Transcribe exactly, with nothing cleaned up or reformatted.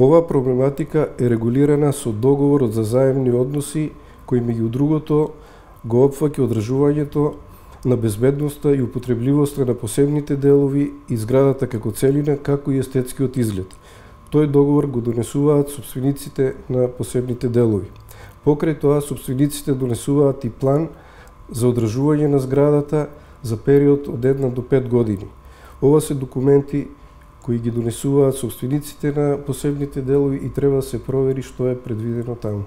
Оваа проблематика е регулирана со договорот за заемни односи, кој меѓу другото го опфаќа одржувањето на безбедноста и употребливоста на посебните делови и зградата како целина, како и естетскиот изглед. Тој договор го донесуваат сопствениците на посебните делови. Покрај тоа, сопствениците донесуваат и план за одржување на зградата за период од една до пет години. Ова се документи кои ги донесуваат сопствениците на посебните делови и треба да се провери што е предвидено таму.